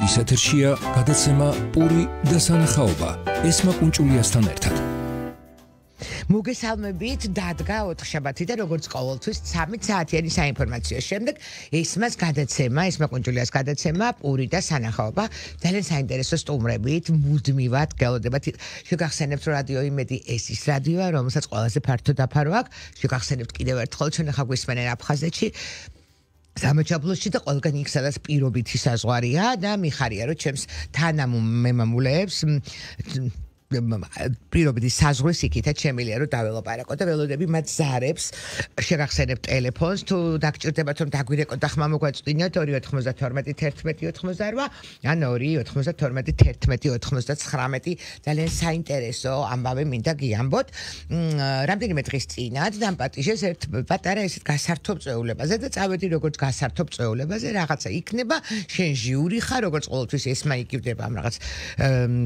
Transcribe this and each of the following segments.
ის ეთერშია გადაცემა პური და სანახაობა ესმა კუნჭულიასთან ერთად. მოგესალმებით, დადგა 4 შაბათი და როგორც ყოველთვის 13 საათიანი საინფორმაციო შემდეგ ესმას გადაცემა, ესმა კუნჭულიას გადაცემა პური და სანახაობა ძალიან საინტერესო სტუმრებით მუდმივად გელოდებათ. შეგახსენებთ რომ რადიო იმედი ეს ის რადიოა, რომელსაც ყველაზე ფართო დაფარო აქვს. შეგახსენებთ კიდევ ერთხელ ჩვენ ახლა გვისმენენ აფხაზეთში სამაჩაბლოში და ყველგან იქ სადაც პირობითი საზღვარია და მიხარია რომ ჩემს თანამემამულეებს პირობითი საზღვრის იქითაც შემიძლია რომ დაველაპარაკო და ველოდები მათ ზარებს შეგახსენებთ ტელეფონს თუ დაგჭირდებათ რომ დაგვირეკოთ და ხმა მოგვაწვდინოთ 2921188 ან 2921199 ძალიან საინტერესო ამბავი მინდა გიამბოთ რამდენიმე დღის წინათ დამპატიჟეს ერთ პატარა ესეთ გასართობ წვეულებაზე და წავედი როგორც გასართობ წვეულებაზე რაღაცა იქნება შენ ჟიური ხარ როგორც ყოველთვის ესმა იგივდება ამ რაღაც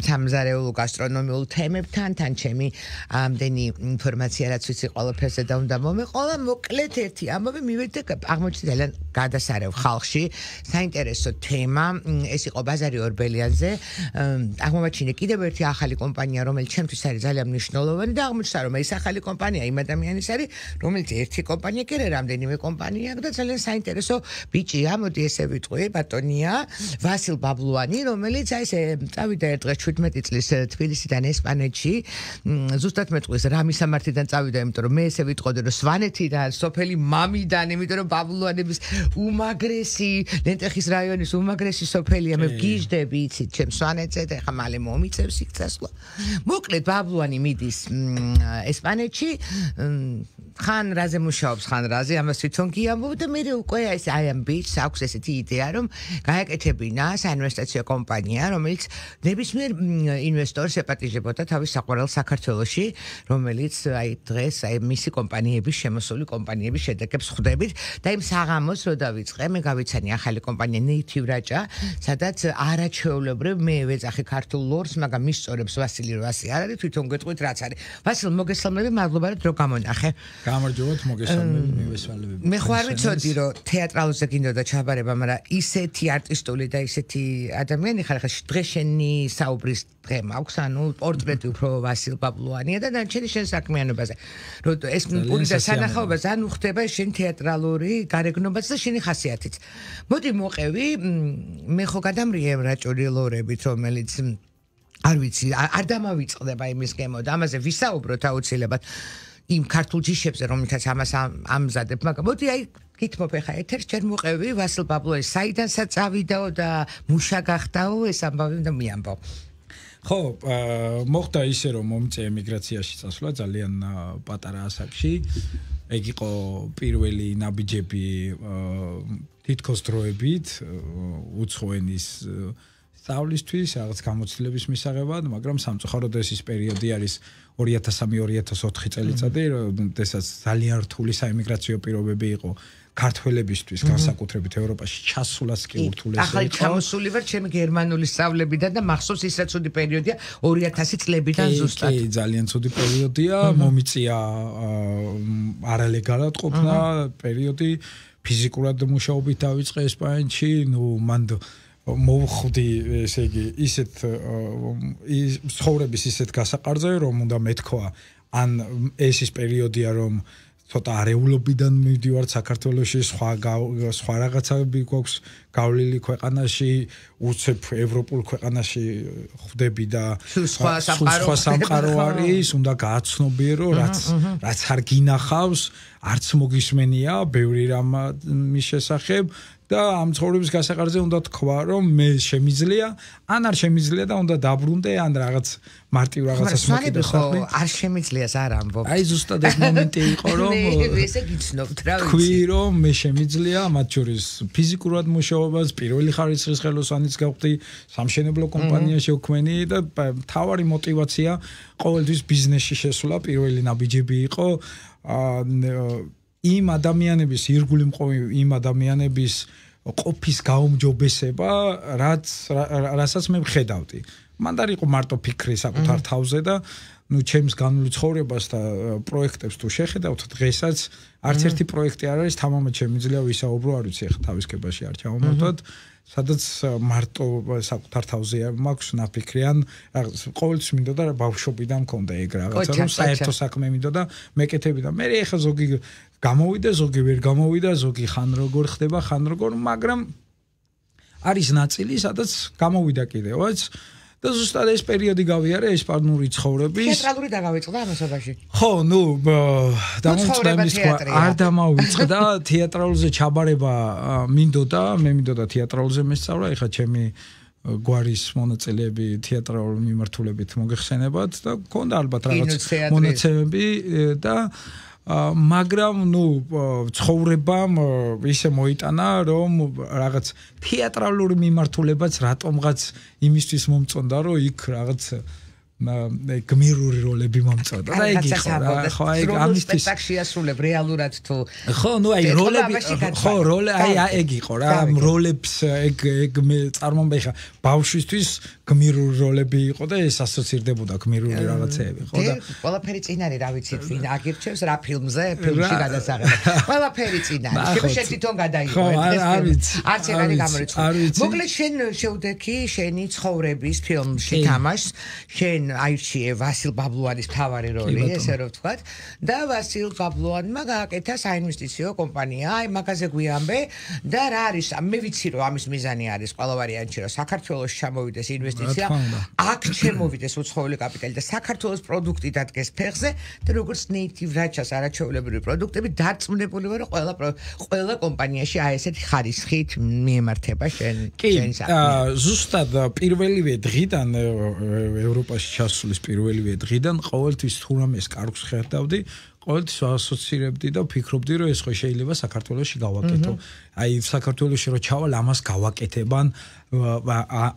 სამზარეულო გასტრონომიულ თემებთან თან ჩემი ამდენი ინფორმაცია რაც ვიცი ყველაფერზე და უნდა მომეყოლა მოკლედ ერთი ამბავი მივედი და აღმოჩნდა ძალიან გადასარევ ხალხში საინტერესო თემა ეს იყო ბაზარი ორბელიანზე აღმოჩინე კიდევ ერთი ახალი კომპანია რომელიც ჩემთვის არის ძალიან მნიშვნელოვანი და აღმოჩნდა რომ ეს ახალი კომპანია იმ ადამიანის არის რომელიც ერთი კომპანია კი არა რამდენიმე კომპანია და ძალიან საინტერესო ბიჭია მოდი ესე ვიტყვი ბატონია ვასილ ბაბლუანი რომელიც აი ესე წავიდა ერთ დღეს 17 წლის თბილისიდან ესპანეთში ზუსტად მეტყვის რა მისამართიდან წავიდა იმიტომ რომ მე ესე ვიტყოდი რომ სვანეთიდან სოფელი მამიდან იმიტომ რომ ბაბლუანების უმაგრესი ლენტეხის რაიონის უმაგრესი სოფელია მე ვგიჟდები იცით ჩემ სვანეთზე და ხა მალე მომიწევს იქ წასვლა მოკლედ ბაბლუანი მიდის ესპანეთში ხან რაზე მუშაობს ხან რაზე ამას თვითონ გიამბობ და მე უკვე აი ამ ბიჭს აქვს ესეთი იდეა რომ გაეკეთებინა საინვესტიციო კომპანია რომელიც ნებისმიერ ინვესტორს ეპატიჟებოდა თავის საყვარელ საქართველოში რომელიც აი დღეს აი მისი კომპანიების შემოსული კომპანიების შედეგებს ხვდებით და იმ საღამოს რო დავიწყე მე გავიცანი ახალი კომპანია Native Raja სადაც არაჩვეულებრივ მე ვეძახი ქართულ ლორს მაგრამ მისწორებს ვასილი რვასი არ არის თვითონ გეტყვით რაც არის ვასილ მოგესალმები მადლობა რომ დრო გამონახე გამარჯობათ მოგესალმები მივესალმები მე ხوار ვიცოდი რომ თეატრალზე გინდოდა ჩაბარება მაგრამ ისეთი არტისტული და ისეთი ადამიანი ხარ ხა დღეს შენი საუბრის დღე მაქვს ანუ პორტრეტი უფრო ვასილ ბაბლუანია და დანარჩენი შენ საქმიანობაზე რომ ეს პური და სანახაობა ძალიან უხდება შენ თეატრალური გარეგნობაც და შენი ხასიათიც მოდი მოყევი მე ხო გადამრიე რაჭური ლორებით რომელიც არ ვიცი არ დამავიწყდება იმის გემო და ამაზე ვისაუბროთ აუცილებლად იმ ქართულ ჯიშებზე რომელთაც ამას ამზადებ მაგრამ მოდი აი გითმობ ხა ეთერს ჯერ მოყევი ვასილ ბაბლუანის საიდანაც წავიდაო და მუშა გახდაო ეს ამბავი და მიამბო ხო მოხდა ისე რომ მომწე ემიგრაციაში წასვლა ძალიან პატარა ასაკში ეგ იყო პირველი ნაბიჯები თითქოს დროებით უცხოენის სწავლისთვის რაღაც გამოცდილების მისაღებად მაგრამ სამწუხაროდ ეს პერიოდი არის 2003-2004 წელიწადი როდესაც ძალიან რთული საემიგრაციო პირობები იყო ქართველებისთვის განსაკუთრებით ევროპაში ჩასულას კი ურთულესი იყო. ახლა ჩამოსული ვარ ჩემი გერმანული სწავლებიდან და მახსოვს ის რაც ცუდი პერიოდია 2000 წლებიდან ზუსტად. კი, ძალიან ცუდი პერიოდია, მომიწია არალეგალად ყოფნა პერიოდი, ფიზიკურად მუშაობით დავიწყე ესპანეთში, მან მოვხვდი ესე იგი ისეთ ცხოვრების ისეთ გასაყარზე რომ უნდა მეთქვა ან ეს ის პერიოდია რომ ცოტა არეულობიდან მივდივართ საქართველოში სხვა რაღაცები გვაქვს გავლილი ქვეყანაში უცებ ევროპულ ქვეყანაში ხვდები და სხვა სამყარო არის უნდა გააცნობიერო რაც არ გინახავს არც მოგისმენია ბევრი რამ მის შესახებ და ამ ცხოვრების გასაყარზე უნდა თქვა რომ მე შემიძლია ან არ შემიძლია და უნდა დაბრუნდე ან რაღაც მარტივ რაღაცას მოკიდე არ შემიძლიას არ ამბობ აი ზუსტად ეს მომენტი იყო რომ ესე გიცნობთ რა ვიცი თქვი რომ მე შემიძლია მათ შორის ფიზიკურად მუშაობას პირველი ხარისხის ხელოსანიც გავხდი სამშენებლო კომპანიაში ვქმენი და მთავარი мотиваცია ყოველთვის ბიზნესში შესვლა პირველი ნაბიჯები იყო იმ ადამიანების ირგვლივ მყოფი იმ ადამიანების ყოფის გაუმჯობესება რასაც მე ვხედავდი მან არ იყო მარტო ფიქრი საკუთარ თავზე და ნუ ჩემს განვლილ ცხოვრებას და პროექტებს თუ შეხედავთ დღესაც არც ერთი პროექტი არ არის თამამად შემიძლია ვისაუბრო არ ვიცი ახლა თავისკებაში არ ჩავამართოთ სადაც მარტო საკუთარ თავზე მაქვს ნაფიქრიან ყოველთვის მინდოდა ბავშვობიდან მქონდა ეგ რაღაცა რომ საერთო საქმე მინდოდა მეკეთები და მე ახლა ზოგი გამოვიდა ზოგი ვერ გამოვიდა ზოგი ხან როგორ ხდება ხან როგორ მაგრამ არის ნაწილი სადაც გამოვიდა კიდევაც და ზუსტად ეს პერიოდი გავიარე ესპანური ცხოვრების თეატრალური დაგავიწყდა ამასობაში ხო ნუ დამოწმების არ დამავიწყდა თეატრალურზე ჩაბარება მინდოდა მე მინდოდა თეატრალურზე მესწავლა ეხლა ჩემი გვარის მონაწილეები თეატრალურ მიმართულებით მოგეხსენებათ და მქონდა ალბათ რაღაც მონაცემები და მაგრამ ნუ ცხოვრებამ ისე მოიტანა რომ რაღაც თეატრალური მიმართულებაც რატომღაც იმისთვის მომწონდა რომ იქ რაღაც გმირური როლები მომწონდა და ეგ იყო ხო აი ამისთვის სპექტაკლში ასრულებ რეალურად თუ ხო ნუ აი როლები ხო როლე აი ეგ იყო რა როლებს ეგ მე წარმომბე ხა ბავშვისთვის გმირური როლები იყო და ეს ასოცირდებოდა გმირური რაღაცეები ხო და ყველაფერი წინ არის რა ვიცით ვინ აგირჩევს რა ფილმზე ფილმში გადასაღებად ყველაფერი წინ არის შენ თვითონ გადაიღო ეს არც ეგ არის გამორიცხული მოკლედ შენ შეუდექი შენი ცხოვრების ფილმში თამაშს შენ აირჩიე ვასილ ბაბლუანის მთავარი როლი ესე რომ ვთქვათ და ვასილ ბაბლუანმა გააკეთა საინვესტიციო კომპანია აი მაგაზე გვიამბე და რა არის მე ვიცი რომ ამის მიზანი არის ყველა ვარიანტში რომ საქართველოს ჩამოვიდეს ინვესტიცია აქ შემოვიდეს უცხოელი კაპიტალი და საქართველოს პროდუქტი დადგეს ფეხზე და როგორც native რაჩას არაჩვეულებრივი პროდუქტები დარწმუნებული ვარ რომ ყველა კომპანიაში აი ესეთი ხარისხით მიემართება შენ საქმე ზუსტად პირველივე დღიდან ევროპაში ჩასulis პირველივე დღიდან ყოველთვის თუ რამეს კარგს ხედავდი ყოველთვის ასოცირებდი და ვფიქრობდი რომ ეს ხო შეიძლება საქართველოში გავაკეთო აი საქართველოში რო ჩავალ ამას გავაკეთებან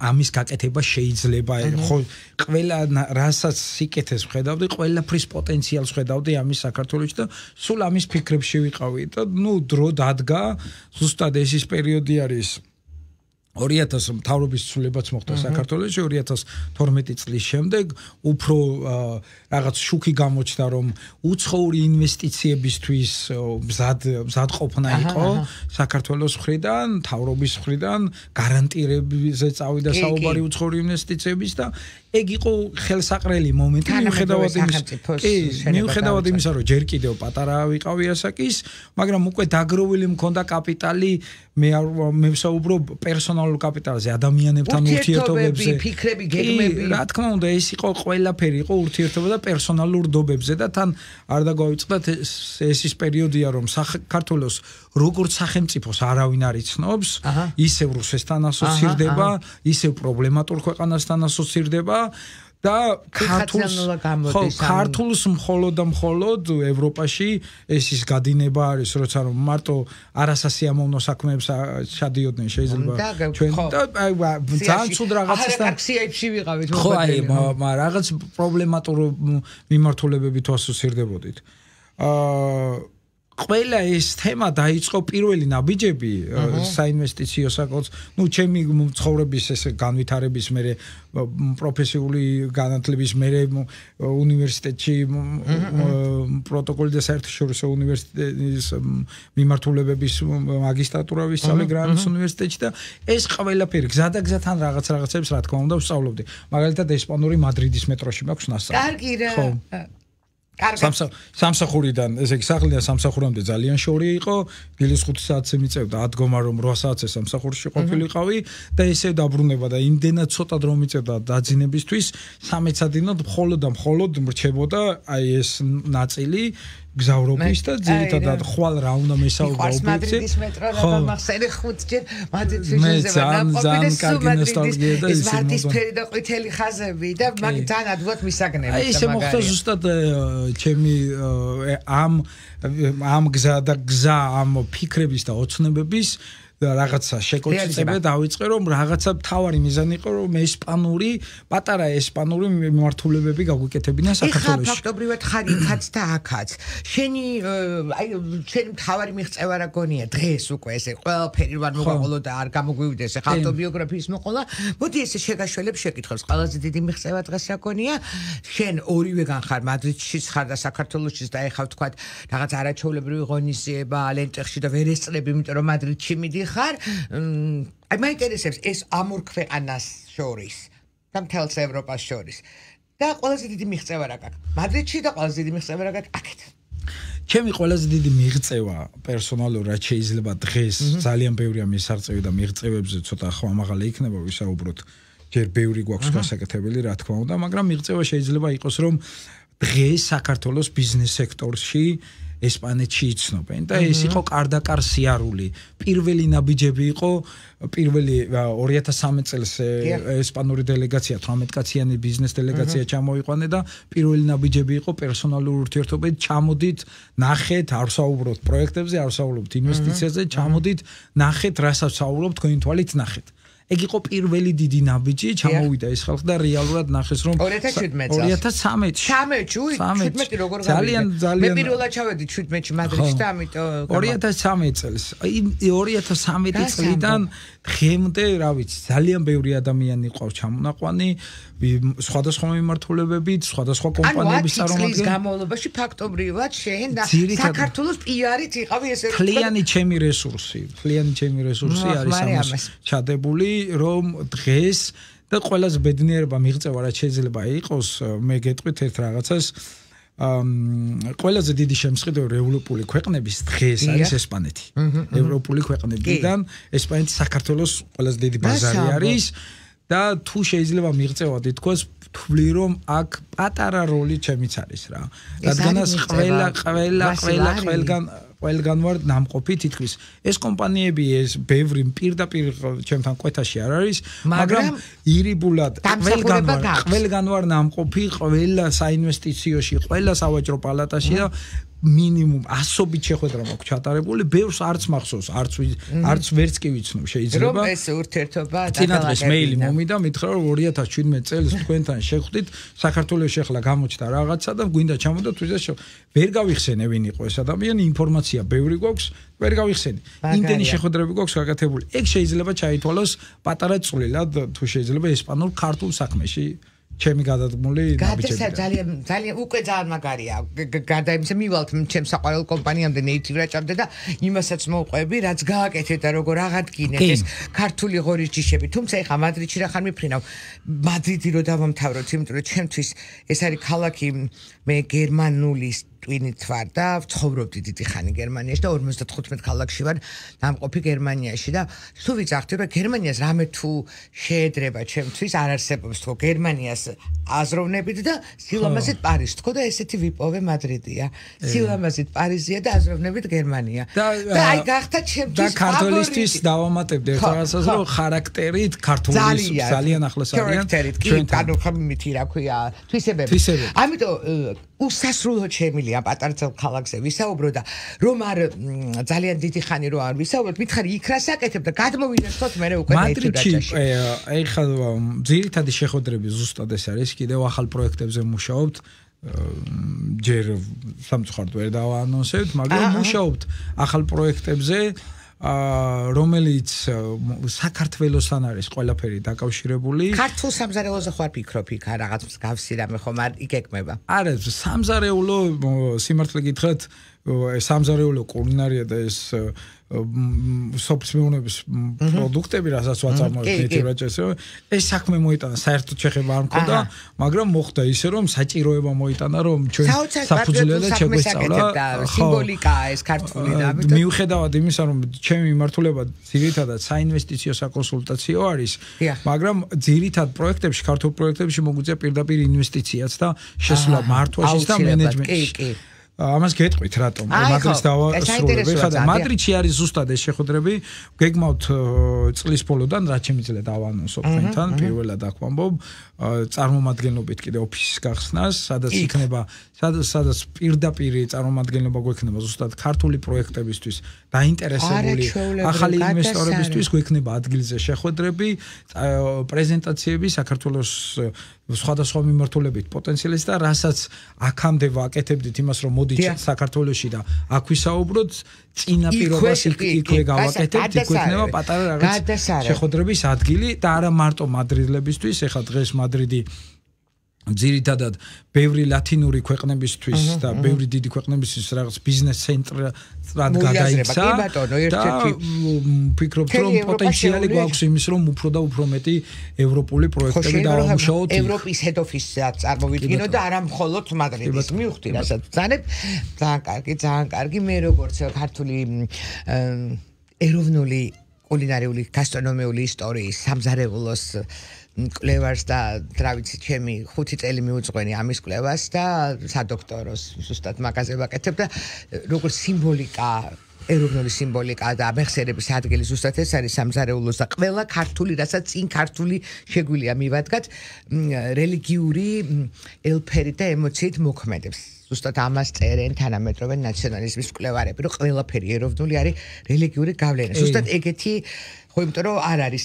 ამის გაკეთება შეიძლება ხო ყველა რასაც სიკეთეს ვხედავდი ყველაფრის პოტენციალს ვხედავდი ამის საქართველოში და სულ ამის ფიქრებში ვიყავი და ნუ დრო დადგა ზუსტად ეს ის პერიოდი არის 2000 მთავრობის ცვლილებაც მოხდა საქართველოში 2012 წლის შემდეგ უფრო რაღაც შუქი გამოჩნდა რომ უცხოური ინვესტიციებისთვის მზად ყოფნა იყო საქართველოს მხრიდან მთავრობის მხრიდან გარანტირებზე წავიდა საუბარი უცხოური ინვესტიციების და ეგ იყო ხელსაყრელი მომენტი მიუხედავად იმისა რომ ჯერ კიდევ პატარა ვიყავი ასაკის მაგრამ უკვე დაგროვილი მქონდა კაპიტალი მე ვსაუბრობ პერსონალურ კაპიტალზე ადამიანებთან ურთიერთობებზე ფიქრები გეგმები რა თქმა უნდა ეს იყო ყველაფერი იყო ურთიერთობა და პერსონალურ დობებზე და თან არ დაგვავიწყდათ ეს ის პერიოდია რომ საქართველოს როგორც სახელმწიფოს არავინ არ იცნობს ისევ რუსეთთან ასოცირდება ისევ პრობლემატურ ქვეყანასთან ასოცირდება და ქართულს მხოლოდ და მხოლოდ ევროპაში ეს ის გადინება არის როცა რომ მარტო არასასიამოვნო საქმეებს ჩადიოდნენ შეიძლება ჩვენ და ძალიან ცუდ რაღაცასთან აქციებში ვიყავით ხო აი რაღაც პრობლემატურ მიმართულებებით ასოცირდებოდით ყველა ეს თემა დაიწყო პირველი ნაბიჯები საინვესტიციო საკითხს ნუ ჩემი ცხოვრების ეს განვითარების მერე პროფესიული განათლების მერე უნივერსიტეტში პროტოკოლი და საერთაშორისო უნივერსიტეტის მიმართულებების მაგისტრატურა ვისწავლე გრანის უნივერსიტეტში და ეს ყველაფერი გზადაგზათან რაღაცებს რა თქმა უნდა ვსწავლობდი მაგალითად ესპანური მადრიდის მეტროში მაქვს ნასწავლი კარგი რა სამსახურიდან ესე იგი სახლიდან სამსახურამდე ძალიან შორი იყო დილის 5 საათზე მიწევდა ადგომა რომ 8 საათზე სამსახურში ყოფილიყავი და ესე დაბრუნება და იმდენად ცოტა დრო მიწევდა დაძინებისთვის 13 საათინოდ მხოლოდ მრჩებოდა აი ეს ნაწილი გზავრობის და ძირითადად ხვალ რა უნდა მესაუბრა ობიექტზე ხო მაგსენე 5 ჯერ მადრიდის ნოსტალგია და ეს ვარდისფერი და ყვითელი ხაზები და მაგ ძალიან ადვილად მისაგნები აი ესე მოხდა ზუსტად ჩემი ამ გზა ამ ფიქრების და ოცნებების რაღაცა შეკოწიწება დავიწყე რომ რაღაცა თავარი მიზანი იყო რომ ესპანური პატარა ესპანური მიმართულებები გაგვიკეთებინა საქართველოში. ეხლა ფაქტობრივად ხარ იქაც და აქაც. შენი შენი თავარი მიღწევა რა გონია დღეს უკვე ესე ყველაფერი ვარ მოყოლო და არ გამოგვივიდეს ეხლა ავტობიოგრაფიის მოყოლა. მოდი ესე შეგაშველებ შეკითხვებს. ყველაზე დიდი მიღწევა დღეს რა გონია? შენ ორივეგან ხარ მადრიდშიც ხარ და საქართველოშიც და ეხლა ვთქვათ რაღაც არაჩვეულებრივი ღონისძიება ლენტეხში და ვერ ესწრები იმიტომ რომ მადრიდში მიდიხარ. აი მაინტერესებს ეს ამ ორ ქვეყანას შორის და მთელს ევროპას შორის და ყველაზე დიდი მიღწევა რა გაქვს მადრიდში და ყველაზე დიდი მიღწევა რა გაქვს აქეთ ჩემი ყველაზე დიდი მიღწევა პერსონალურად შეიძლება დღეს ძალიან ბევრია მისაღწევი და მიღწევებზე ცოტა ხმამაღალი იქნება ვისაუბროთ ჯერ ბევრი გვაქვს გასაკეთებელი რა თქმა უნდა მაგრამ მიღწევა შეიძლება იყოს რომ დღეს საქართველოს ბიზნეს სექტორში ესპანეთში იცნობენ და ეს იყო კარდაკარ სიარული. პირველი ნაბიჯები იყო პირველი 2013 წელს ესპანური დელეგაცია 18 კაციანი ბიზნეს დელეგაცია ჩამოიყვანე და პირველი ნაბიჯები იყო პერსონალური ურთიერთობებით ჩამოდით ნახეთ არ ვსაუბრობთ პროექტებზე არ ვსაუბრობთ ინვესტიციაზე ჩამოდით ნახეთ რასაც ვსაუბრობთ თქვენი თვალით ნახეთ. ეგ იყო პირველი დიდი ნაბიჯი ჩამოვიდა ეს ხალხი და რეალურად ნახეს რომ 2017 როგორ გავიდა მე პირველად ჩავედი 17-ში მადრიდში და ამიტომ 2013 წელს 2013 წლიდან დღემდე რა ვიცი ძალიან ბევრი ადამიანი ყავს ჩამონაყვანი სხვადასხვა მიმართულებებით სხვადასხვა კომპანიების წარმომადგენლები განმავლობაში ფაქტობრივად შენ და საქართველოს პიარით იყავი ესე ფლიანი ჩემი რესურსი არის ამას ჩადებული რომ დღეს და ყველაზე ბედნიერება მიღწევა რაც შეიძლება იყოს მე გეტყვით ერთ რაღაცას ყველაზე დიდი შემსყიდველი ევროპული ქვეყნების დღეს არის ესპანეთი. ევროპული ქვეყნებიდან ესპანეთი საქართველოს ყველაზე დიდი ბაზარი არის და თუ შეიძლება მიღწევად ითქვას თვლი რომ აქ პატარა როლი ჩემიც არის რა. რადგანაც ყველგან ვარ ნამყოფი თითქმის ეს კომპანიები ეს ბევრი პირდაპირ ჩემთან კვეთაში არ არის მაგრამ ირიბულად ყველგან ვარ ნამყოფი ყველა საინვესტიციოში ყველა სავაჭრო პალატაში და მინიმუმ 100-ობით შეხვედრა მაქვს ჩატარებული ბევრს არც მახსოვს არც ვერც კი ვიცნობ შეიძლება რომ ეს ურთიერთობა წინადღეს მეილი მომიდა მითხრა რომ 2017 წელს თქვენთან შეხვდით საქართველოში ახლა გამოჩნდა რაღაცა და გვინდა ჩამოდოთ ვიზა ვერ გავიხსენე ვინ იყო ეს ადამიანი ინფორმაცია ბევრი გვაქვს ვერ გავიხსენე იმდენი შეხვედრები გვაქვს გაკეთებული ეგ შეიძლება ჩაითვალოს პატარა წვლილად თუ შეიძლება ესპანურ ქართულ საქმეში ჩემი გადადგმული ნაბიჯები ძალიან უკვე ძალიან მაგარია გარდა იმისა მივალთ ჩემს საყვარელ კომპანიამდე ნეიტივ რაჭამდე და იმასაც მოვყვები რაც გააკეთეთ და როგორ აღადგინეთ ეს ქართული ღორის ჯიშები თუმცა ეხა მადრიდში რა ხარ მიფრინავ მადრიდი რო დავამთავროთ იმიტომ რომ ჩემთვის ეს არის ქალაქი მე გერმანული ტვინით ვარ და ვცხოვრობდი დიდი ხანი გერმანიაში და 55 ქალაქში ვარ ნამყოფი გერმანიაში და თუ ვიძახდი რომ გერმანიას რამე თუ შეედრება ჩემთვის არ არსებობს თქო გერმანიას აზროვნებით და სილამაზით პარიზს თქო და ესეთი ვიპოვე მადრიდია სილამაზით პარიზია და აზროვნებით გერმანია და აი გახდა ჩემთვის და ქართოლისთვის დავამატებდი ერთ რაღაცას რომ ხარაქტერით ქართულის ძალიან ახლოს არიან ჩვენ ანუ ხმითი რა ქვია თვისებები ამიტომ უსასრულოდ შემილია პატარცელ ქალაქზე ვისაუბრო და რომ არ ძალიან დიდი ხანი რო არ ვისაუბროთ მითხარი იქ რა საკეთებ და გადმოვინახოთ მე უკვე მადრიდში ეხლა ძირითადი შეხვედრები ზუსტად ეს არის კიდევ ახალ პროექტებზე მუშაობთ ჯერ სამწუხაროდ ვერ დავაანონსებთ მაგრამ მუშაობთ ახალ პროექტებზე რომელიც საქართველოსთან არის ყველაფერი დაკავშირებული. ქართულ სამზარეულოზე ხარ ფიქრობ იქ რაღაც მსგავსი რამე ხომ არ იგეკმება. არა, სამზარეულო სიმართლე გითხრათ, სამზარეულო კულინარია და ეს სოფლის მეურნეობის პროდუქტები, რასაც ვაწარმოებთ ნეტირაჭესო, ეს საქმე მოიტანა, საერთოდ შეხება არ მქონდა, მაგრამ მოხდა ისე რომ საჭიროება მოიტანა, რომ ჩვენ საფუძვლელად შეგვესწავლა სიმბოლიკაა ეს ქართული და ამიტომ მიუხედავად იმისა, რომ ჩემი მიმართულება ძირითადად საინვესტიციო საკონსულტაციო არის, მაგრამ ძირითად პროექტებში, ქართულ პროექტებში მოგვიწია პირდაპირ ინვესტიციაც და შესვლა მართვაშიც და მენეჯმენტში. ამას გეტყვით რატომ მადრიდს დავასრულებ ხა და მადრიდში არის ზუსტად ეს შეხვედრები გეგმავთ წლის ბოლოდან რაც შემიძლია დავანონსოთ თქვენთან პირველად აქ ვამბობ წარმომადგენლობით კიდე ოფისის გახსნას სადაც იქნება სადაც პირდაპირ წარმომადგენლობა გვექნება ზუსტად ქართული პროექტებისთვის დაინტერესებული ახალი ინვესტორებისთვის გვექნება ადგილზე შეხვედრები პრეზენტაციები საქართველოს სხვადასხვა მიმართულებით პოტენციალის და რასაც აქამდე ვაკეთებდით იმას რომ მოდით საქართველოში და აქ ვისაუბროთ წინა პირობას იქვე გავაკეთებთ იქ გვექნება პატარა რაღაც შეხვედრების ადგილი და არა მარტო მადრიდლებისთვის ეხლა დღეს მადრიდი ძირითადად ბევრი ლათინური ქვეყნებისთვის და ბევრი დიდი ქვეყნებისთვის რაღაც ბიზნეს ცენტრად გადაიქცა და ვფიქრობთ რომ პოტენციალი გვაქვს იმის რომ უფრო და უფრო მეტი ევროპული პროექტები დავამუშავოთ ევროპის head office-საც წარმოვიდგინო და არა მხოლოდ მადრიდის მივხვდი რასაც ძალიან კარგი მე როგორც ქართული ეროვნული კულინარიული გასტრონომიული ისტორიის სამზარეულოს კლევას და რა ვიცი ჩემი 5 წელი მიუძღვენი ამის კლევას და სადოქტოროს ზუსტად მაგაზე ვაკეთებ და როგორც სიმბოლიკა ეროვნული სიმბოლიკა და მეხსიერების ადგილი ზუსტად ეს არის სამზარეულოს და ყველა ქართული რასაც წინ ქართული შეგვიძლია მივადგათ რელიგიური ელფერი და ემოციით მოქმედებს ზუსტად ამას წერენ თანამედროვე ნაციონალიზმის მკვლევარები რომ ყველაფერი ეროვნული არის რელიგიური გავლენა ზუსტად ეგეთი ხო იმიტომ რომ არ არის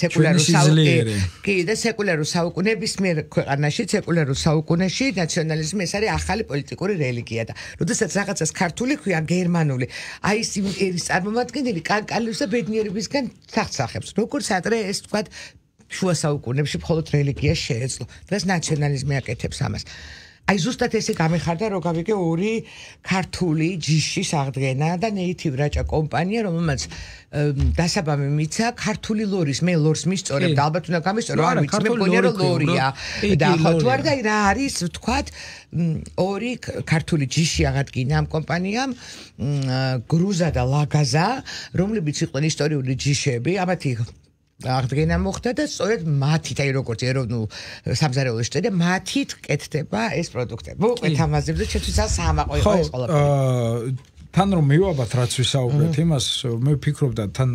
სეკულარულ საუკუნეების მიერ ქვეყანაში სეკულარულ საუკუნეში ნაციონალიზმი ეს არის ახალი პოლიტიკური რელიგია და როდესაც რაღაცას ქართული ქვია გერმანული აი ეს ერის წარმომადგენელი კანკალიოს და ბედნიერებისგან სახსახებს როგორც ადრე ეს თქვა შუა საუკუნეებში მხოლოდ რელიგია შეეძლო დღეს ნაციონალიზმი აკეთებს ამას აი ზუსტად ესე გამეხარდა რომ გავიგე ორი ქართული ჯიშის აღდგენა და ნეითივ რაჭა კომპანია რომელმაც დასაბამი მიცა ქართული ლორის მე ლორს მისწორებ და ალბათ უნდა გამისწორო არ ვიცი მე მგონია რომ ლორია და ხო თუ არ და რა არის ვთქვათ ორი ქართული ჯიში აღადგინა ამ კომპანიამ გრუზა და ლაგაზა რომლებიც იყვნენ ისტორიული ჯიშები ამათი აღდგენა მოხდა და სწორედ მათით აი როგორც ეროვნულ სამზარეულოს და მათით კეთდება ეს პროდუქტები. მოყვეთ ამაზე და ჩემთვის საამაყო იყო ეს ყველაფერი. თან რომ მივაბათ რაც ვისაუბრეთ იმას მე ვფიქრობდა თან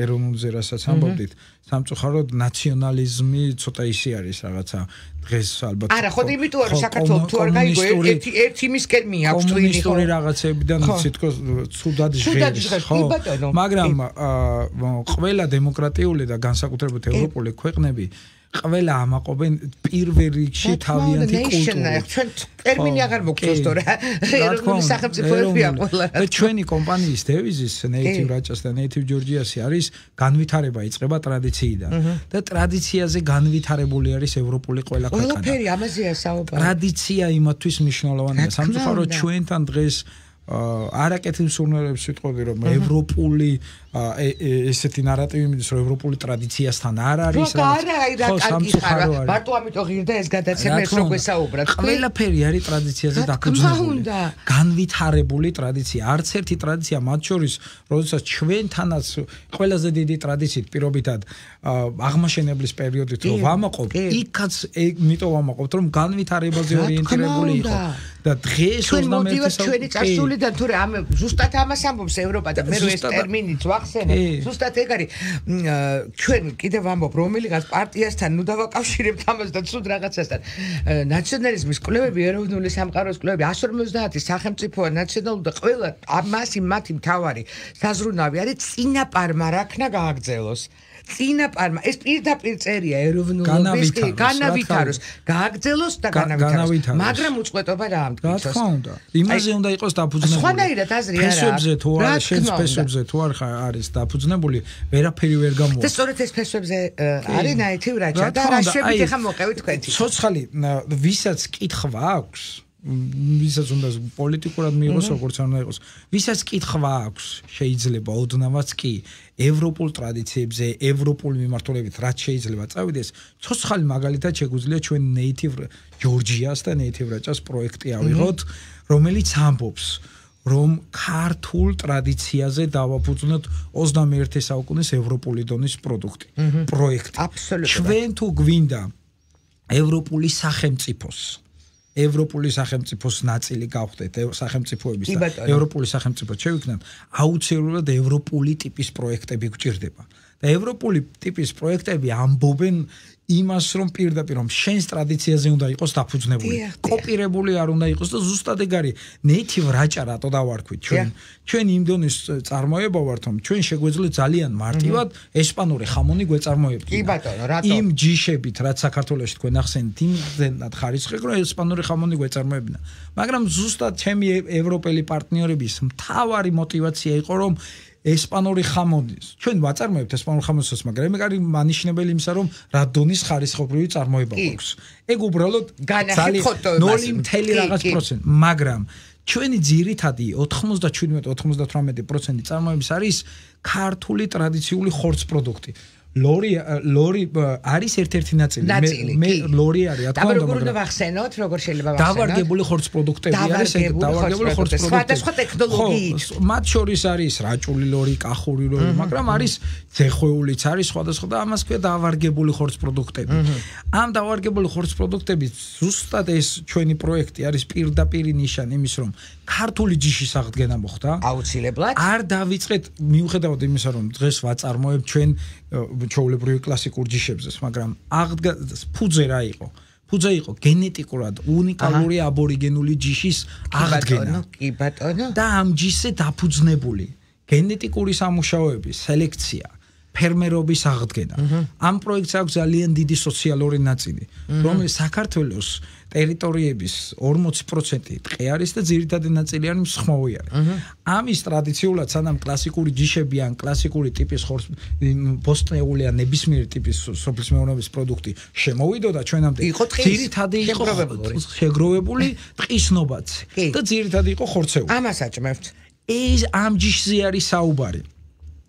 ეროვნულზე რასაც ამბობდით სამწუხაროდ ნაციონალიზმი ცოტა ისე არის რაღაცა დღეს ალბათ არა ხო იმიტომ რომ საქართველოს თუ არ გაიგო ერთი იმისკენ მიაქვს თუ ინისტორი რაღაცებიდან თითქოს ცუდად ჟღერს ხო მაგრამ ყველა დემოკრატიული და განსაკუთრებით ევროპული ქვეყნები ყველა ამაყობენ პირველ რიგში თავიანთი კულტურა. ჩვენ ტერმინი აღარ მოგწევს თორე ეროვნული სახელმწიფოებია ყველა. და ჩვენი კომპანიის დევიზის Native Rajas და Native Georgias-ი არის განვითარება იწყება ტრადიციიდან. და ტრადიციაზე განვითარებული არის ევროპული ყველა ქვეყანა. ყველაფერი ამაზეა საუბარი. ტრადიცია იმათვის მნიშვნელოვანია. სამწუხაროდ ჩვენთან დღეს არაკეთილ სურნელებს ვიტყოდი რომ ევროპული ესეთი ნარატივი მიდის რომ ევროპული ტრადიციასთან არ არის რა რა სამწუხარო მარტო ამიტომ ღირდა ეს გადაცემა ეს რო გვესაუბრათ ყველაფერი არის ტრადიციაზე დაფუძნებული განვითარებული ტრადიცია არც ერთი ტრადიცია მათ შორის როდესაც ჩვენთანაც ყველაზე დიდი ტრადიციით პირობითად აღმაშენებლის პერიოდით რომ ვამაყობ იქაც იმიტომ ვამაყობთ რომ განვითარებაზე ორიენტირებული იყო და დღეს 21 საუკუნეში და თუ რა ზუსტად ამას ამბობს ევროპა და მე რო ეს ტერმინიც ვახსენე ზუსტად ეგ არის ჩვენ კიდევ ვამბობ რომელიღაც პარტიასთან ნუ დავაკავშირებთ ამას და ცუდ რაღაცასთან ნაციონალიზმის კვლევები ეროვნული სამყაროს კვლევები 150 სახელმწიფოა ნაციონალური და ყველა ამასი მათი მთავარი საზრუნავი არის წინაპარმა რაქნა გააგრძელოს წინაპარმა ეს პირდაპირ წერია ეროვნულობის განავითაროს გააგრძელოს და განავითაროს მაგრამ უწყვეტობა რა ამტკიცოს რა თქმა უნდა იმაზე უნდა იყოს დაფუძნებული სხვანაირად აზრი არა ფესვებზე თუ არა შენს ფესვებზე თუ არ არის დაფუძნებული ვერაფერი ვერ გამოვა და სწორედ ეს ფესვებზე არის Native Raja და რა შეგვით ახლა მოყევით თქვენი ცოცხალი ვისაც კითხვა აქვს ვისაც უნდა პოლიტიკურად მიიღოს როგორც არ უნდა იყოს ვისაც კითხვა აქვს შეიძლება ოდნავაც კი ევროპულ ტრადიციებზე ევროპულ მიმართულებით რაც შეიძლება წავიდეს ცოცხალი მაგალითად შეგვიძლია ჩვენ Native Georgias და Native Rajas პროექტი ავიღოთ რომელიც ამბობს რომ ქართულ ტრადიციაზე დავაფუძნოთ 21 საუკუნის ევროპული დონის პროდუქტი პროექტი აბსოლუტურად ჩვენ თუ გვინდა ევროპული სახელმწიფოს ევროპული სახელმწიფოს ნაწილი გავხდეთ, სახელმწიფოების და ევროპული სახელმწიფო შევიქნათ, აუცილებლად ევროპული ტიპის პროექტები გვჭირდება. და ევროპული ტიპის პროექტები ამბობენ იმას, რომ პირდაპირ რომ შენს ტრადიციაზე უნდა იყოს დაფუძნებული, კოპირებული არ უნდა იყოს და ზუსტად ეგ არის native რაჭა რატო დავარქვით ჩვენ იმ დონის წარმოება ვართ, რომ ჩვენ შეგვეძლო ძალიან მარტივად ესპანური ხამონი გვეწარმოებთ. კი ბატონო, რატო? იმ ჯიშებით, რაც საქართველოში თქვენ ახსენეთ, იმდენად ხარისხი, რომ ესპანური ხამონი გვეწარმოებინა. მაგრამ ზუსტად ჩემი ევროპელი პარტნიორების მთავარი мотиваცია იყო, რომ ესპანური ხამონის. ჩვენ ვაწარმოებთ ესპანურ ხამონს, მაგრამ ეგ არის მანიშნებელი იმისა, რომ რა დონის ხარისხობრივი წარმოება გვაქვს. ეგ უბრალოდ ძალიან 0.რაღაც%, მაგრამ ჩვენი ძირითადი 97-98% წარმოების არის ქართული ტრადიციული ხორცს პროდუქტი. ლორი არის ერთ-ერთი ნაწილი. მე ლორი არის, რა თქმა უნდა, მაგრამ როგორ ვახსენოთ, როგორ შეიძლება ვახსენოთ? დავარგებული ხორცს პროდუქტები არის, დავარგებული ხორცს პროდუქტები. სხვადასხვა ტექნოლოგიით. მათ შორის არის რაჭული ლორი, კახური ლორი, მაგრამ არის ძეხვეულიც არის სხვადასხვა და ამას ქვია დავარგებული ხორცს პროდუქტები. ამ დავარგებული ხორცს პროდუქტები ზუსტად ეს ჩვენი პროექტი არის პირდაპირ ნიშანი იმის, რომ ქართული ჯიშის აღდგენა მოხდა. აუცილებლად. არ დავიწყეთ მიუხედავად იმისა, რომ დღეს ვაწარმოებთ ჩვენ ჩვეულებრივი კლასიკურ ჯიშებზე, მაგრამ ფუძე რა იყო? ფუძე იყო გენეტიკურად უნიკალური აბორიგენული ჯიშის აღდგენა. კი ბატონო. და ამ ჯიშზე დაფუძნებული გენეტიკური სამუშაოების სელექცია, ფერმერობის აღდგენა. ამ პროექტს აქვს ძალიან დიდი სოციალური ნაწილი, რომელიც საქართველოს ტერიტორიების 40% ტყე არის და ძირითადი ნაწილი არის მსხვილი არის. ამის ტრადიციულად სანამ კლასიკური ჯიშები ან კლასიკური ტიპის ხორცს ბოსტნეული ან ნებისმიერი ტიპის სოფლის მეურნეობის პროდუქტი შემოვიდოდა ჩვენამდე, ძირითადი იყო შეგროვებული ტყის ნობაცი და ძირითადი იყო ხორცეული. ამას აჭმევთ. ეს ამ ჯიშზე არის საუბარი.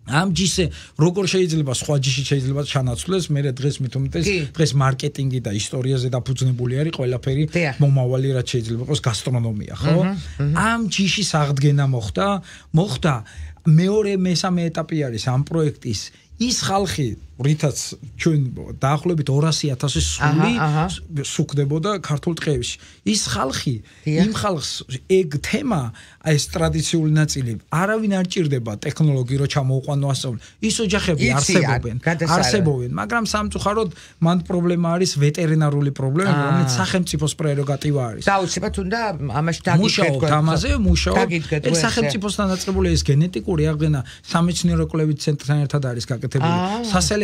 ამ ჯიშზე როგორ შეიძლება სხვა ჯიში შეიძლება ჩანაცვლეს, მე დღეს მithumetes დღეს მარკეტინგი და ისტორიაზე დაფუძნებული არის ყველაფერი მომავალი რაც შეიძლება იყოს გასტრონომია, ხო? ამ ჯიშის აღდგენა მოხდა მეორე მესამე ეტაპი არის ამ პროექტის ის ხალხი რითაც ჩვენ დაახლოებით 200,000 სული სუქდებოდა ქართულ ტყეებში. ის ხალხი, იმ ხალხს ეგ თემა, ეს ტრადიციული ნაწილი, არავინ არ ჭირდება ტექნოლოგი რო ჩამოუყვანო ასწავლო. ის ოჯახები არსებობენ, მაგრამ სამწუხაროდ მან პრობლემა არის ვეტერინარული პრობლემა, რომელიც სახელმწიფოს პრეროგატივა არის. დაუცებად უნდა ამაში დაგიდგეთ. ამაზე მუშაობ. ეს სახელმწიფოსთან დაწყებული ეს გენეტიკური აღდგენა სამეცნიერო კვლევით ცენტრთან ერთად არის გაკეთებული.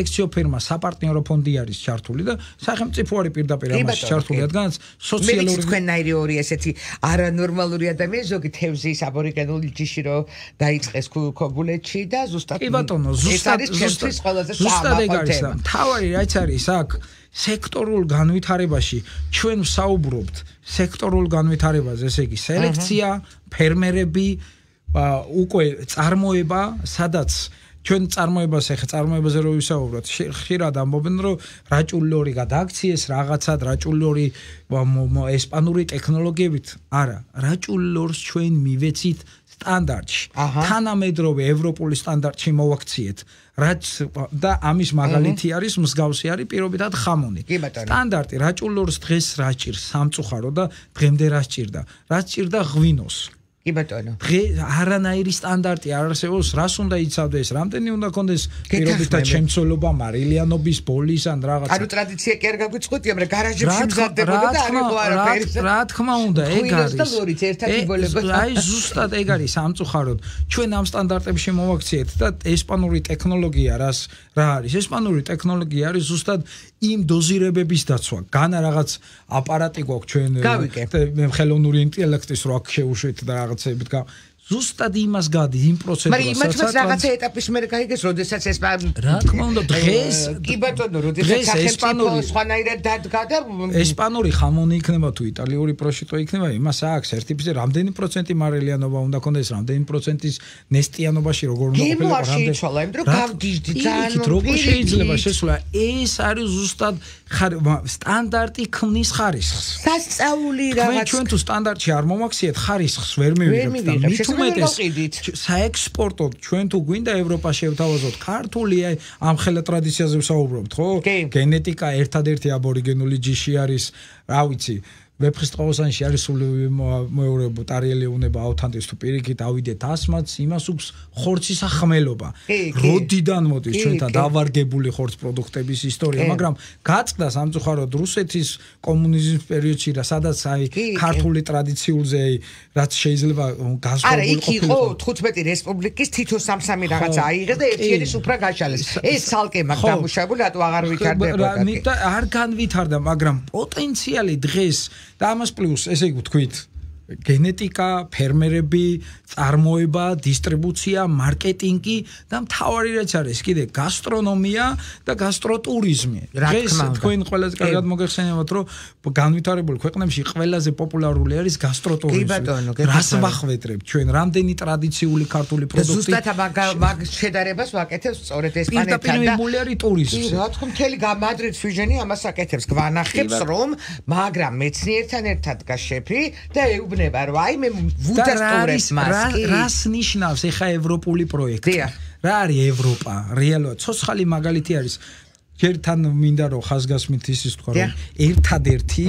სასელექციო ფირმა, საპარტნიორო ფონდი არის ჩართული და სახელმწიფო არის პირდაპირ ამაში ჩართული, რადგან სოციალური თქვენნაირი ორი ესეთი არანორმალური ადამიანი ზოგი თევზის აბორიგენული ჯიში რო დაიწყეს ქობულეთში და ზუსტად კი ბატონო, ზუსტად ეგ არის და თავარი რაც არის აქ სექტორულ განვითარებაში ჩვენ ვსაუბრობთ სექტორულ განვითარებაზე, ესე იგი სელექცია, ფერმერები, უკვე წარმოება, სადაც ჩვენ წარმოებაზე რო ვისაუბროთ, ხშირად ამბობენ, რომ რაჭული ლორი გადააქციეს რაღაცად, რაჭული ლორი ესპანური ტექნოლოგიებით. არა, რაჭული ლორს ჩვენ მივეცით სტანდარტში. თანამედროვე ევროპული სტანდარტში მოვაქციეთ. რაც და ამის მაგალითი არის, მსგავსი არის პირობითად ხამონი. სტანდარტი რაჭული ლორს დღეს რა ჭირს სამწუხარო და დღემდე რა სჭირდა? რა სჭირდა ღვინოს. კი ბატონო. არანაირი სტანდარტი არ არსებობს, რას უნდა იცავდეს, რამდენი უნდა კონდეს პირობითად შემცველობა, მარილიანობის, ბოლის ან რაღაც. ანუ ტრადიცია კი არ გაგვიწყუტია, მაგრამ გარაჟებში მზადდებოდა და არ იყო არაფერი. რა თქმა უნდა, ეგ არის. აი ზუსტად ეგ არის სამწუხაროდ. ჩვენ ამ სტანდარტებში მოვაქციეთ და ესპანური ტექნოლოგია რა არის? ესპანური ტექნოლოგია არის ზუსტად იმ დოზირებების დაცვა. განა რაღაც აპარატი გვაქვს ჩვენ ხელოვნური ინტელექტის რო აქ შევუშვით და რაღაცებით ზუსტად იმას გადის იმ პროცედურას, მაგრამ რაღაცა ეტაპის მერე გაიგეს, როდესაც ეს რა თქმა უნდა დღეს კი ბატონო, როდესაც სახელმწიფო სხვანაირად დადგა და ესპანური ხამონი იქნება თუ იტალიური პროშიტო იქნება, იმას აქვს სერტიფიცირება, რამდენი პროცენტი მარილიანობა უნდა კონდეს, რამდენი პროცენტის ნესტიანობაში როგორ უნდა ყოფილიყო, რამდენი შეიცვალა, იმ დრო გავდიჟდი ძალიან როგორ შეიძლება შესვლა, ეს არის ზუსტად სტანდარტი ქმნის ხარისხს. სასწაული რაღაც ჩვენ თუ სტანდარტში არ მომაქციეთ, ხარისხს ვერ მივიღებთ და საექსპორტო ჩვენ თუ გვინდა ევროპა შევთავაზოთ ქართული ამ ხელა ტრადიციაზე ვსაუბრობთ, ხო? გენეტიკა ერთადერთი აბორიგენული ჯიში არის, რა ვიცი, ვეფხისტყაოსანში არის სული მეორე ტარიელი უნება ავთანდეს თუ პირიქით ავიდეთ ასმაც იმას უქვს ხორცის ახმელობა როდიდან მოდის ჩვენთან დავარგებული ხორც პროდუქტების ისტორია მაგრამ გაწყდა სამწუხაროდ რუსეთის კომუნიზმის პერიოდში რა სადაც აი ქართული ტრადიციულზე რაც შეიძლება გასწორებული ყოფილიყო 15 რესპუბლიკის თითო სამ-სამი რაღაცა აიღეს და ერთიანი სუფრა გაშალეს ეს ცალკე მაგ დამუშავებული რატო აღარ ვითარდებოდა არ განვითარდა მაგრამ პოტენციალი დღეს და ამას პლუს ესე იგი ვთქვით გენეტიკა, ფერმერები, წარმოება, დისტრიბუცია, მარკეტინგი და მთავარი რაც არის კიდე გასტრონომია და გასტროტურიზმი. დღეს თქვენ ყველაზე კარგად მოგეხსენებათ რომ განვითარებული ქვეყნებში ყველაზე პოპულარული არის გასტროტურიზმი. რას ვახვედრებთ ჩვენ რამდენი ტრადიციული ქართული პროდუქტი ზუსტად მაგ შედარებას ვაკეთებს სწორედ ესპანეთთან და მულერი ტურიზმი. რა თქმა უნდა მთელი მადრიდის ვიჟენი ამას აკეთებს გვანახებს რომ მაგრამ მეცნიერთან ერთად დგას შეფი და ეუბნება რომ აი მე ვუდასტურებ მას რას ნიშნავს ეხა ევროპული პროექტი რა არის ევროპა რეალურად ცოცხალი მაგალითი არის ჯერთან მინდა რომ ხაზგასმით ისიც თქვა რომ ერთადერთი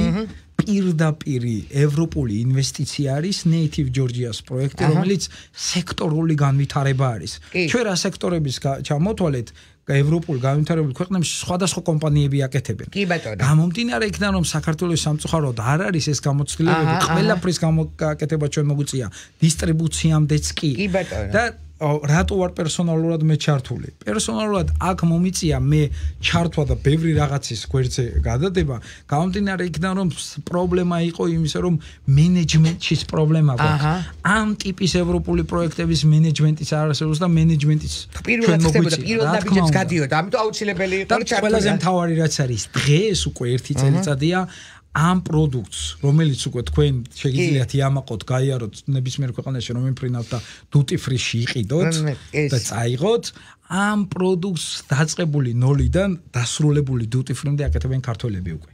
პირდაპირი ევროპული ინვესტიცია არის Native Georgia-ს პროექტი რომელიც სექტორული განვითარება არის ჩვენ რა სექტორების ჩამოთვალეთ ევროპულ განვითარებულ ქვეყნებში სხვადასხვა კომპანიები აკეთებენ. კი ბატონო. გამომდინარე იქიდან რომ საქართველოს სამწუხაროდ არ არის ეს გამოცდილებები, ყველაფრის გამოკეთება ჩვენ მოგვიწია დისტრიბუციამდეც კი. კი ბატონო. და რატო ვარ პერსონალურად მე ჩართული? პერსონალურად აქ მომიწია მე ჩართვა და ბევრი რაღაცის გვერდზე გადადება, გამომდინარე იქიდან რომ პრობლემა იყო იმისა რომ მენეჯმენტის პრობლემა გვაქვს. ამ ტიპის ევროპული პროექტების მენეჯმენტის არ არსებობს და მენეჯმენტის ჩვენ მოგვიწია. პირველ ნაბიჯებს გადიოდა, ამიტომ აუცილებელი იყო ჩართვა. ყველაზე მთავარი რაც არის დღეს უკვე ერთი წელიწადია ამ პროდუქტს, რომელიც უკვე თქვენ შეგიძლიათ იამაყოთ, გაიაროთ ნებისმიერ ქვეყანაში, რომ იმფრინავთ და duty free-ში იყიდოთ და წაიღოთ, ამ პროდუქტს დაწყებული ნოლიდან დასრულებული duty free-მდე აკეთებენ ქართველები უკვე.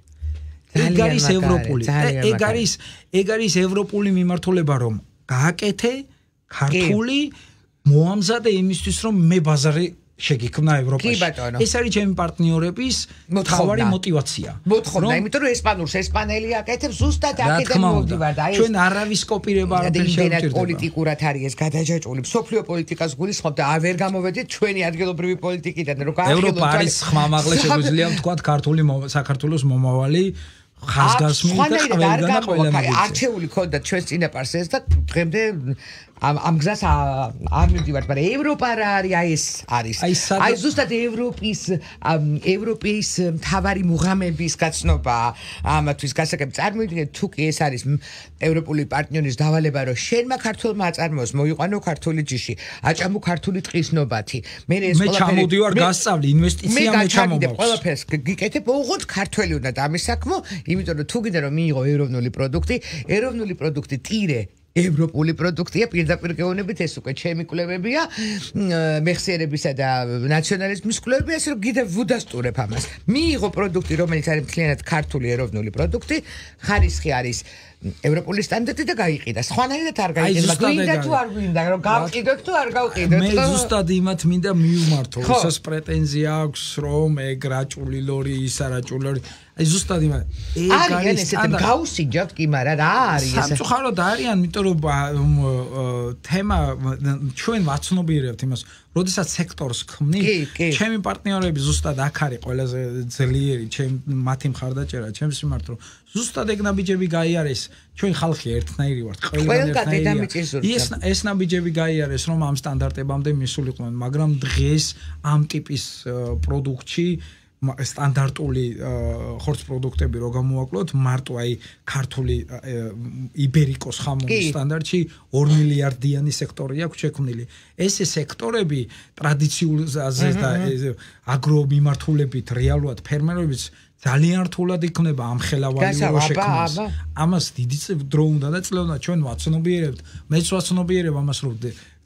ეგ არის ევროპული. ეგ არის ევროპული მიმართულება, რომ გააკეთე ქართული მოამზადე იმისთვის, რომ მე ბაზარი შეგიქმნა ევროპაში. ეს არის ჩემი პარტნიორების მთავარი мотиваცია. მოთხოვნა, იმიტომ რომ ესპანურს ესპანელი აკეთებს, ზუსტად აქედან მოვდივარ და აი ჩვენ არავის კოპირება არ შეიძლება პოლიტიკურად არის ეს გადაჯაჭვული. სოფლიო პოლიტიკას გულისხმობ და ვერ გამოვედით ჩვენი ადგილობრივი პოლიტიკიდან, რომ გაახილოთ ევროპა არის ხმამაღლა შეგვიძლია ვთქვათ ქართული საქართველოს მომავალი ხაზგასმით და ყველგან ყველგან არჩეული ქონდა ჩვენს წინაპარს ეს და დღემდე ამ გზას არ მივდივართ, მაგრამ ევროპა რა არის, აი ეს არის. აი ზუსტად ევროპის მთავარი მუღამების გაცნობა ამათვის გასაგებ წარმოიდგინეთ თუ კი ეს არის ევროპული პარტნიორის დავალება რომ შენმა ქართულმა აწარმოოს მოიყვანო ქართული ჯიში, აჭამო ქართული ტყის ნობათი. მე ჩამოდივარ გასწავლი ინვესტიცია მე ჩამოვარ. ყველაფერს გიკეთებ, ოღონდ ქართველი უნდა დამისაქმო, იმიტომ რომ თუ გინდა რომ მიიღო ეროვნული პროდუქტი ტირე ევროპული პროდუქტია პირდაპირ გეუბნებით ეს უკვე ჩემი კვლევებია მეხსიერებისა და ნაციონალიზმის კვლევებია ასე რომ კიდევ ვუდასტურებ ამას მიიღო პროდუქტი რომელიც არის მთლიანად ქართული ეროვნული პროდუქტი ხარისხი არის ევროპული სტანდარტი და გაიყიდა სხვანაირად არ გაიყიდა გვინდა თუ არ გვინდა რომ გავყიდოთ თუ არ გავყიდოთ მე ზუსტად იმათ მინდა მიუმართო ისას პრეტენზია აქვს რომ ეგ რაჭული ლორი ისა რაჭული ლორი აი ზუსტად იმათ ეგ არის ესეთ გავუსინჯავთ კი მაგრამ რა არის ეს სამწუხაროდ არიან იმიტომ რომ თემა ჩვენ ვაცნობიერებთ იმას როდესაც სექტორს ქმნი ჩემი პარტნიორები ზუსტად აქ არის ყველაზე ძლიერი მათი მხარდაჭერა ჩემს მიმართ რომ ზუსტად ეგ ნაბიჯები გაიარეს ჩვენ ხალხი ერთნაირი ვართ ყველგან ეს ნაბიჯები გაიარეს რომ ამ სტანდარტებამდე მისულიყვნენ მაგრამ დღეს ამ ტიპის პროდუქტში სტანდარტული ხორც პროდუქტები რო გამოვაკლოთ მარტო აი ქართული იბერიკოს ხამურის სტანდარტში 2 მილიარდიანი სექტორი აქვს შექმნილი ეს სექტორები ტრადიციულზე და აგრო მიმართულებით რეალურად ფერმერებიც ძალიან რთულად იქნება ამ ხელავალი რო შექმნას ამას დიდი დრო უნდა და წლევნა ჩვენ ვაცნობიერებთ მეც ვაცნობიერებ ამას რომ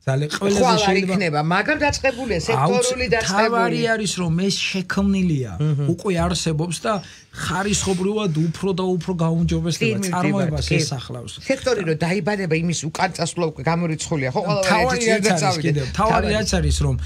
ძალიან ყველაზე შეიძლება მაგრამ დაწყებულია სექტორული დაწყებული თავარი არის რომ ეს შექმნილია უკვე არსებობს და ხარისხობრივად უფრო და უფრო გაუმჯობესდება წარმოებას ესახლავს სექტორი რომ დაიბადება იმის უკან წასვლა უკვე გამორიცხულია ხო ყველაფერი თავარი რაც არის რომ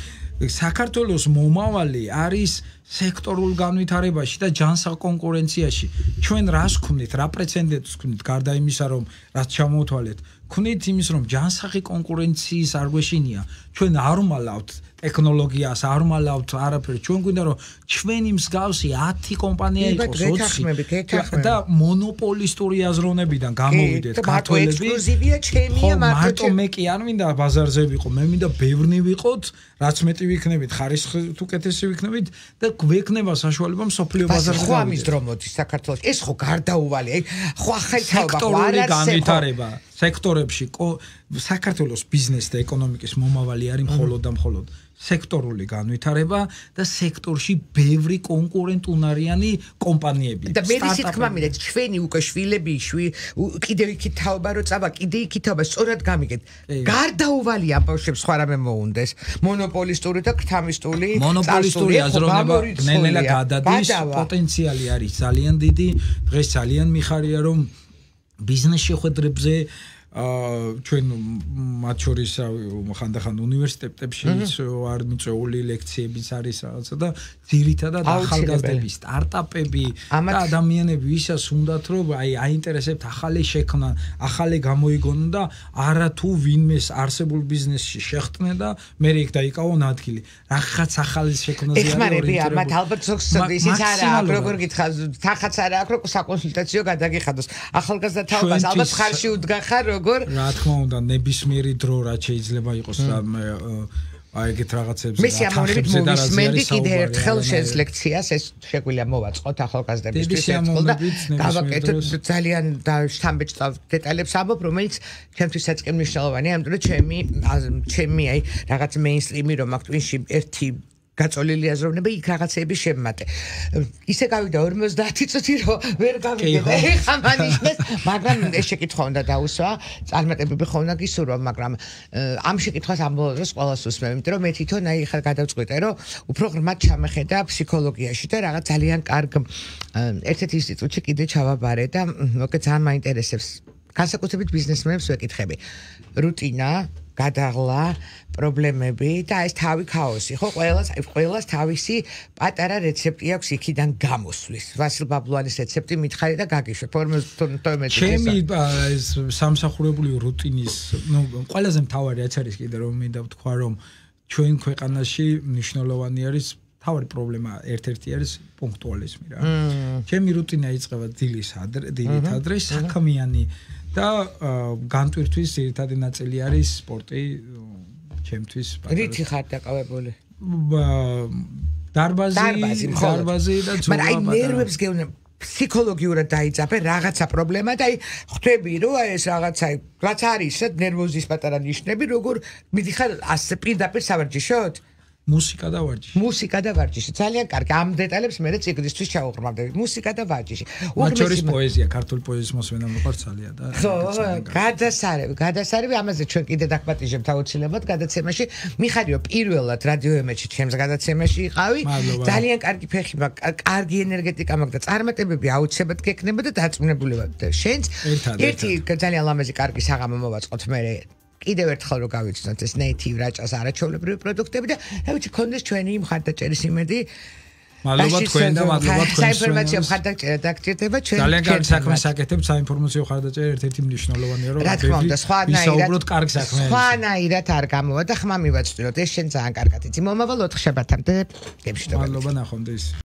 საქართველოს მომავალი არის სექტორულ განვითარებაში და ჯანსაღ კონკურენციაში. ჩვენ რას ვქნით, რა პრეცედენტს ვქნით, გარდა იმისა, რომ რაც ჩამოვთვალეთ, ვქნით იმის, რომ ჯანსაღი კონკურენციის არ გვეშინია. ჩვენ არ ვმალავთ ტექნოლოგიას, არ ვმალავთ არაფერს. ჩვენ გვინდა, რომ ჩვენი მსგავსი 10 კომპანია იყოს, 20 და მონოპოლისტური აზროვნებიდან გამოვიდეთ ქართველები. ექსკლუზივია ჩემია მარტო მე კი არ მინდა ბაზარზე ვიყო, მე მინდა ბევრნი ვიყოთ, რაც მეტი ვიქნებით, ხარისხით უკეთესი ვიქნებით და გვექნება საშუალება მსოფლიო ბაზარზე. ხო ამის დრო მოდის საქართველოს. ეს ხო გარდაუვალი, ხო ახალთავა ხო არ არის განვითარება სექტორებში საქართველოს ბიზნეს და ეკონომიკის მომავალი არის მხოლოდ და მხოლოდ სექტორული განვითარება და სექტორში ბევრი კონკურენტუნარიანი კომპანიები. და მე ისე თქმა მინდა ჩვენი უკვე შვილები კიდევ იქით თაობა რო წავა, კიდე იქით თაობა სწორად გამიგეთ. გარდაუვალი ამბავშებს სხვა რამე მოუნდეს. მონოპოლისტური და ქრთამისტული მონოპოლისტური აზროვნება ნელ-ნელა გადადის, პოტენციალი არის ძალიან დიდი. დღეს ძალიან მიხარია რომ ბიზნეს შეხვედრებზე ჩვენ მათ შორის ხანდახან უნივერსიტეტებში არ მიწვეული ლექციებიც არის რაღაცა და ძირითადად ახალგაზრდები, სტარტაპები და ადამიანები ვისაც უნდათ რომ აინტერესებთ ახალი შექმნა, ახალი გამოიგონონ და არა თუ ვინმეს არსებულ ბიზნესში შეხტნენ და მე იქ დაიკავონ ადგილი. რაღაც ახალი შექმნაზე არის ეხმარები ამათ ალბათ ზოგს ისიც არა აქვს როგორ გითხრა, თანხაც არა აქვს რომ საკონსულტაციო გადაგიხადოს. ახალგაზრდა თაობას ალბათ ხარში უდგან ხარ როგორ რა თქმა უნდა ნებისმიერი დრო რა შეიძლება იყოს და ეგეთ რაღაცებზე მე ამოვნებით მოვისმენდი კიდე ერთხელ შენს ლექციას ეს შეგვიძლია მოვაწყოთ ახალგაზრდებისთვის ერთხელ და გავაკეთოთ ძალიან შთამბეჭდავ დეტალებს ამბობ რომელიც ჩემთვისაც კი მნიშვნელოვანია ამიტომ რომ ჩემი აი რაღაც მეინსტრიმი რომ აქ twin-ში ერთი გაწოლილი აზროვნება იქ რაღაცეები შემმატე. ისე გავიდა 50 წუთი რომ ვერ გავიგე. ეხა მანიშნეს, მაგრამ ეს შეკითხვა უნდა დაუსვა, წარმატებები ხო უნდა გისურვა, მაგრამ ამ შეკითხვას ამ ბოლოს ყველას усმევ, იმიტომ რომ მე თვითონ აი ხა გადავწყვიტე, რომ უფრო ღრმად ჩამეხედა ფსიქოლოგიაში და რაღაც ძალიან კარგ ერთ-ერთ ინსტიტუტში კიდე ჩავაბარე და მოკეთ ძალიან მაინტერესებს. განსაკუთრებით ბიზნესმენებს ვეკითხები. რუტინა გადაღლა პრობლემები და ეს თავი ქაოსი ხო ყველას თავისი პატარა რეცეპტი აქვს იქიდან გამოსვლის ვასილ ბაბლუანის რეცეპტი მითხარი და გაგიშვებ 52 ჩემი სამსახურებული რუტინის ყველაზე მთავარი რაც არის კიდე რომ მინდა ვთქვა რომ ჩვენ ქვეყანაში მნიშვნელოვანი არის თავი პრობლემა ერთ-ერთი არის პუნქტუალიზმი რა ჩემი რუტინა იწყება დილით ადრე საქმიანი და განტვირთვის ერთადი ნაწილი არის სპორტი ჩემთვის რითი ხარ დაკავებული დარბაზი და ძოლა მაგრამ აი ნერვებს გეუნე ფსიქოლოგიურად დაიძაბე რაღაცა პრობლემა და აი ხვდები რომ ეს რაღაცა რაც არის ნერვოზის პატარა ნიშნები როგორ მიდიხარ ასე პირდაპირ სავარჯიშოდ მუსიკა და ვარჯიში ძალიან კარგი ამ დეტალებს მე ციგნისთვის ჩავუყრმავდები მუსიკა და ვარჯიში მათ შორის პოეზია ქართული პოეზიის მოსმენა მოყარს ძალიან და ხო გადასარევი ამაზე ჩვენ კიდე დაგპატიჟებთ აუცილებლად გადაცემაში მიხარი რომ პირველად რადიო ემეჩი ჩემს გადაცემაში იყავი ძალიან კარგი ფეხი მაქვს კარგი ენერგეტიკა მაქვს და წარმატებები აუცილებლად გექნება და დაწუნებულება შენც ერთი ძალიან ლამაზი კარგი საღამო მოვაწყოთ მე კიდევ ერთხელ რომ გავიცნოთ ეს native რაჭას არაჩვეულებრივი პროდუქტები და რა ვიცი კონდეს ჩვენი მხარდაჭერის იმედი მადლობა თქვენ და მადლობა თქვენს საინფორმაციო მხარდაჭერა დაგჭირდება ჩვენ ძალიან კარგი საქმეს აკეთებთ საინფორმაციო მხარდაჭერა ერთ-ერთი მნიშვნელოვანია რომ რა თქმა უნდა ვისაუბროთ კარგ საქმეებზე სხვანაირად არ გამოვა და ხმა მივაწვდით ეს შენ ძალიან კარგად იცი მომავალ 4 შაბათამდე გემშვიდობებით მადლობა ნახვამდის